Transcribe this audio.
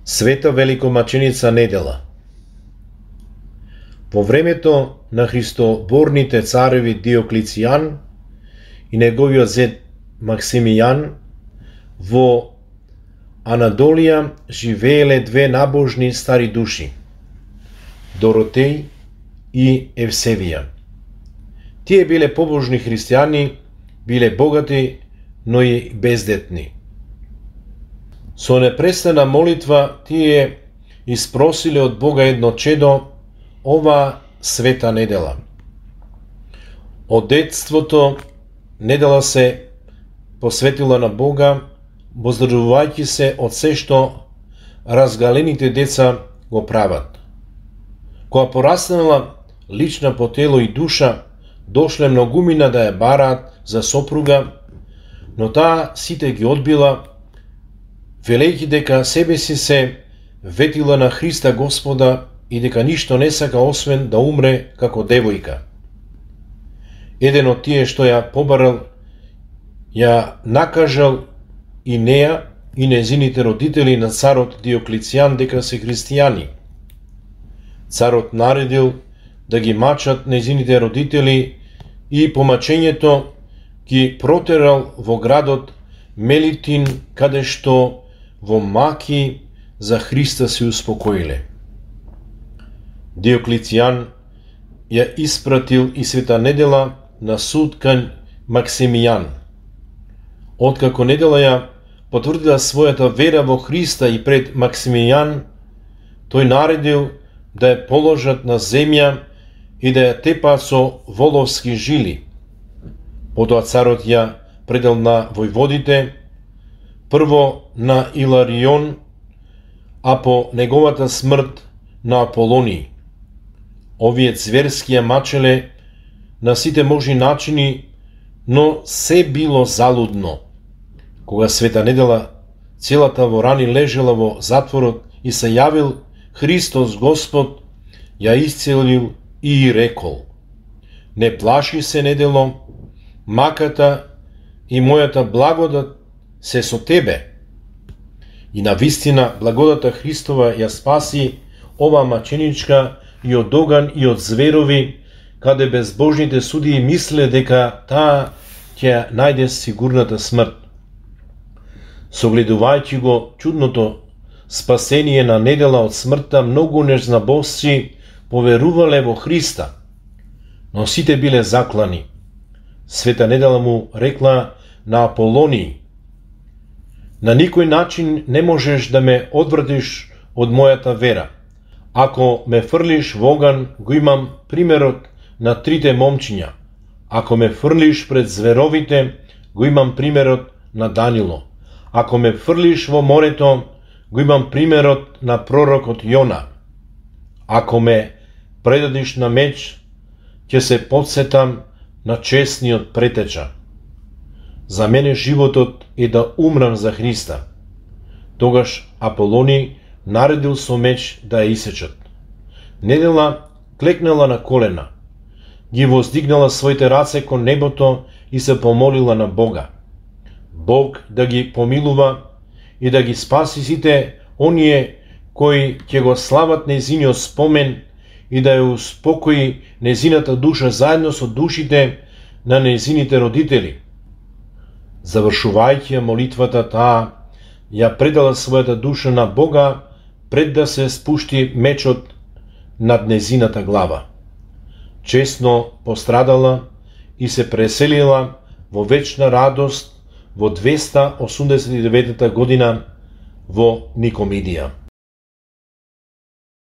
Света великомаченица Недела. Во времето на христоборните цареви Диоклицијан и неговиот зет Максимијан, во Анадолија живееле две набожни стари души, Доротеј и Евсевија. Тие биле побожни христијани, биле богати, но и бездетни. Со непрестана молитва тие испросиле од Бога едно чедо ова света недела. Од детството Недела се посветила на Бога, воздржувајќи се од се што разгалените деца го прават. Кога пораснала лична по тело и душа, дошле многумина да ја бараат за сопруга, но таа сите ги одбила, велејќи дека себе си се ветила на Христа Господа и дека ништо не сака освен да умре како девојка. Еден од тие што ја побарал, ја накажал и неа и незините родители на царот Диоклицијан дека се христијани. Царот наредил да ги мачат незините родители и по мачењето ги протерал во градот Мелитин, каде што во маки за Христа се успокоиле. Диоклицијан ја испратил и света Недела на суд кај Максимијан. Откако Недела ја потврдила својата вера во Христа и пред Максимијан, тој наредил да ја положат на земја и да ја тепаат со воловски жили. Потоа царот ја предал на војводите, прво на Иларион, а по неговата смрт на Аполониј. Овие зверски ја мачеле на сите можни начини, но се било залудно. Кога света Недела целата во рани лежела во затворот и се јавил Христос Господ, ја исцелил и рекол: не плаши се, Недело, маката и мојата благодат се со тебе. И навистина благодата Христова ја спаси ова маченичка и од оган и од зверови, каде безбожните судии мисле дека таа ќе најде сигурната смрт. Согледувајќи го чудното спасение на Недела од смртта, многу незнабожци поверувале во Христа, но сите биле заклани. Света Недела му рекла на Аполониј: на никој начин не можеш да ме одвратиш од мојата вера. Ако ме фрлиш во оган, го имам примерот на трите момчиња. Ако ме фрлиш пред зверовите, го имам примерот на Данило. Ако ме фрлиш во морето, го имам примерот на пророкот Јона. Ако ме предадиш на меч, ќе се потсетам на честниот претеча. За мене животот е да умрам за Христа. Тогаш Аполони наредил со меч да ја исечат. Недела клекнала на колена, ги воздигнала своите раце кон небото и се помолила на Бога. Бог да ги помилува и да ги спаси сите оние кои ќе го слават незиниот спомен и да ја успокои незината душа заедно со душите на незините родители. Завршувајќи ја молитвата, таа ја предала својата душа на Бога пред да се спушти мечот над незината глава. Честно пострадала и се преселила во вечна радост во 289 година во Никомидија.